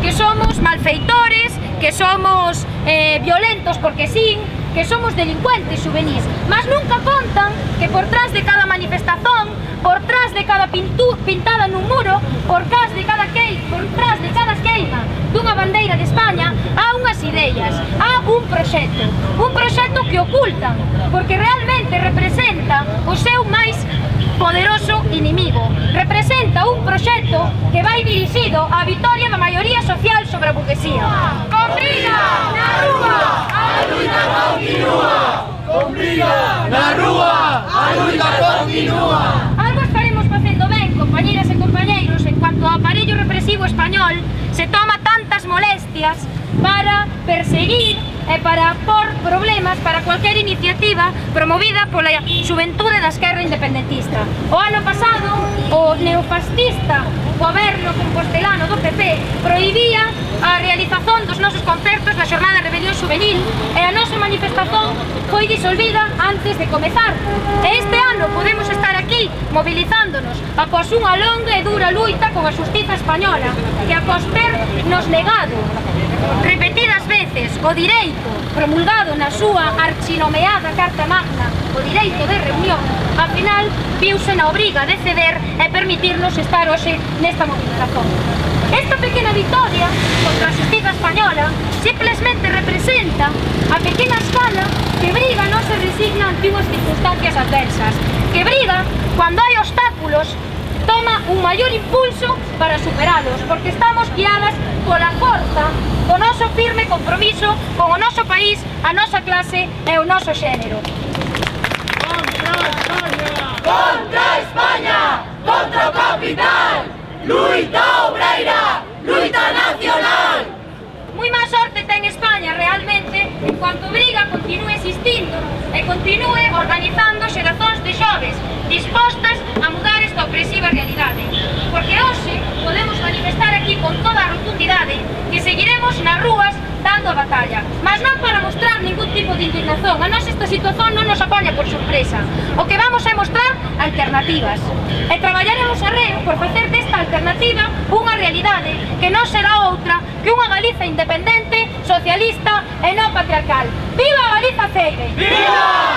Que somos malfeitores, que somos violentos porque sí, que somos delincuentes juvenís, mas nunca contan que por trás de cada manifestación, por trás de cada pintada nun muro, por trás de cada queima dunha bandeira de España, há unhas ideas, há un proxecto que ocultan, porque realmente representa o seu máis poderoso inimigo. Representa un proxecto que vai dirixido á vitoria da maioría social sobre a burguesía. Con briga na rúa, a luita continúa! Con briga na rúa, a luita continúa! Algo estaremos facendo ben, compañeras e compañeiros, en cuanto ao aparello represivo español se toma tantas molestias para perseguir e para por problemas para cualquier iniciativa promovida pola xuventude da esquerra independentista. O ano pasado, o neofascista goberno compostelano do PP prohibía a realización dos nosos concertos da xornada de rebelión juvenil e a nosa manifestación foi disolvida antes de comezar. E este ano podemos estar aquí mobilizándonos após unha longa e dura luita con a xustiza española que após ter nos negado repetidas veces o direito promulgado na súa archinomeada Carta Magna, o direito de reunión, ao final viuse na obriga de ceder e permitirnos estar hoxe nesta movilización. Esta pequena vitoria contra a xustiza española simplesmente representa a pequena escala que briga non se resigna ante unhas circunstancias adversas, que briga cando hai obstáculos, toma un maior impulso para superalos, porque estamos guiadas pola forza do noso firme compromiso con o noso país, a nosa clase e o noso xénero. Contra España, contra o capital, luita obreira, luita nacional. Moi má sorte ten España realmente en cuanto briga continúe existindo e continúe organizando xerazóns de xoves dispostas a mudar esta opresiva realidade, porque hoxe podemos manifestar aquí con toda a rotundidade que seguiremos nas rúas dando a batalla, mas non para mostrar ningún tipo de indignación. A nós esta situación non nos apoia por sorpresa. O que vamos é mostrar alternativas e traballaremos arreo por facer desta alternativa unha realidade que non será outra que unha Galiza independente, socialista e non patriarcal. Viva Galiza Ceire! Viva!